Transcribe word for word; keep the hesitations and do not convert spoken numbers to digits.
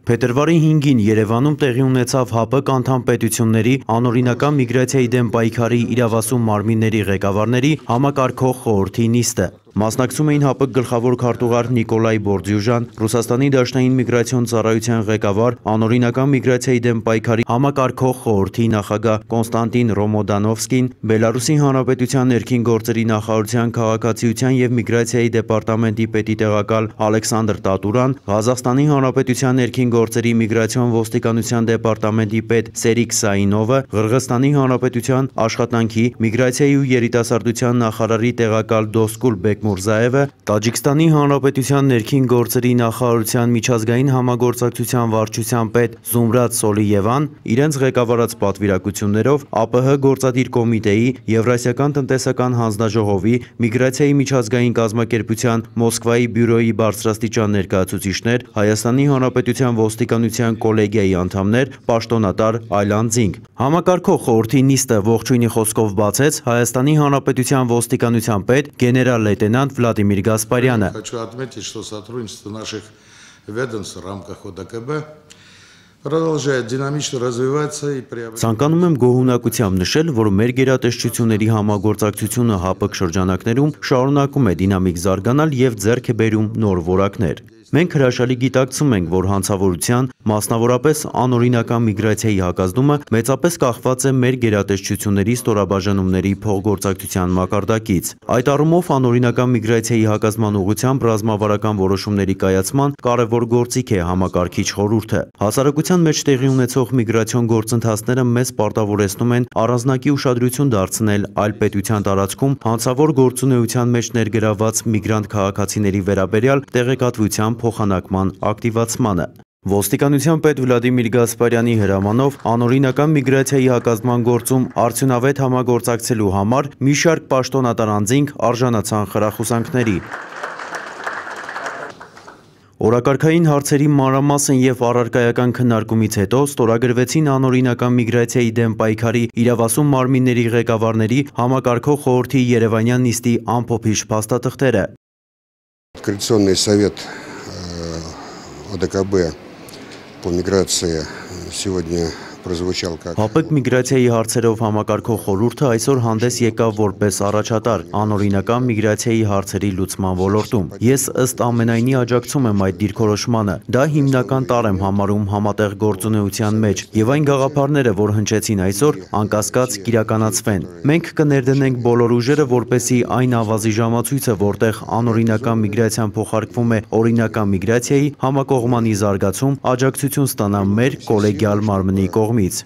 Փետրվարի հինգին Երևանում տեղի ունեցավ ՀԱՊԿ անդամ պետությունների անօրինական միգրացիայի դեմ պայքարի իրավասու մարմինների ղեկավարների համակարգող խորհրդի նիստը։ Մասնակցում էին ՀԱՊԿ գլխավոր քարտուղար Նիկոլայ Բորդյուժան, Ռուսաստանի Դաշնային միգրացիոն ծառայության ղեկավար, անօրինական միգրացիայի դեմ պայքարի համակարգող խորհրդի նախագահ Կոնստանտին Ռոմոդանովսկին, Բելարուսի Հանրապետության ներքին գործերի նախարարության քաղաքացիության և միգրացիայի դեպարտամենտի պետի տեղակալ Ալեքսանդր Տատուրան, Ղազախստանի Հանրապետության ներքին գործերի միգրացիոն ոստիկանության դեպարտամենտի պետ Սերիկ Սայինովը, Ղրղըզստանի Հանրապետության աշխատանքի, միգրացիայի ու երիտասարդության նախարարի տեղակալ Դոսկուլ Բեկմուրզաևը, Տաջիկստանի Հանրապետության ներքին գործերի նախարարության միջազգային համագործակցության վարչության պետ Զումրադ Սոլիևան իրենց ղեկավարած պատվիրակություններով ԱՊՀ գործադիր կոմիտեի, Եվրասիական տնտեսական հանձնաժողովի, միգրացիայի միջազգային կազմակերպության Մոսկվայի բյուրոյի բարձրաստիճան ներկայացուցիչներ, Հայաստանի Հանրապետության ոստիկանության կոլեգիայի անդամներ, պաշտոնատար այլ անձինք։ Համակարգող խորհրդի նիստը ողջույնի խոսքով բացեց Հայաստանի Հանրապետության ոստիկանության պետ գեներալ լեյտենանտ Վլադիմիր Գասպարյանը։ Хочу отметить, что сотрудничество наших ведомств в рамках ОДКБ продолжает динамично развиваться и приобретать. Ցանկանում եմ գոհունակությամբ նշել, որ մեր գերատեսչությունների համագործակցությունը ՀԱՊԿ շրջանակներում շարունակում է դինամիկ զարգանալ և ձեռք է բերում նոր որակներ։ Մենք հրաշալի գիտակցում ենք, որ հանցավորության, մասնավորապես անօրինական միգրացիայի հակազդումը մեծապես կախված է մեր գերատեսչությունների ստորաբաժանումների փոխգործակցության մակարդակից։ Այդ առումով անօրինական միգրացիայի հակազդման ուղղությամբ ռազմավարական որոշումների կայացման կարևոր գործիք է համակարգիչ խորհուրդը։ Հասարակության մեջ տեղի ունեցող միգրացիոն գործընթացները մեզ պարտավորեցնում են առանձնակի ուշադրություն դարձնել այլ պետության տարածքում հանցավոր գործունեության մեջ ներգրավված միգրանտ քաղաքացիների վերաբերյալ տեղեկատվության փոխանակման ակտիվացմանը։ Ոստիկանության պետ Վլադիմիր Գասպարյանի հրամանով անօրինական միգրացիայի հակազդման գործում արդյունավետ համագործակցելու համար մի շարք պաշտոնատար անձինք արժանացան խրախուսանքների։ Օրակարգային հարցերի մանրամասն և առարկայական քննարկումից հետո ստորագրվեցին անօրինական միգրացիայի դեմ պայքարի իրավասու մարմինների ղեկավարների համակարգող խորհրդի երևանյան նիստի ամփոփիչ փաստաթղթերը։ Координационный совет ОДКБ по миграции сегодня прозвучал как ՀԱՊԿ միգրացիայի հարցերով համակարգող խորհուրդը այսօր հանդես եկավ որպես առաջատար անօրինական միգրացիայի հարցերի լուծման ոլորտում։ Ես ըստ ամենայնի աջակցում եմ այդ դիրքորոշմանը։ Դա հիմնական տարր եմ համարում համատեղ գործունեության մեջ, և այն գաղափարները, որ հնչեցին այսօր, անկասկած կիրականացվեն։ Մենք կներդնենք բոլոր ուժերը, որպեսզի այն ավազի ժամացույցը, որտեղ անօրինական միգրացիան փոխարկվում է օրինական միգրացիայի համակողմանի զարգացում, աջակցություն ստանա մեր կոլեգիալ մարմնի կողմից։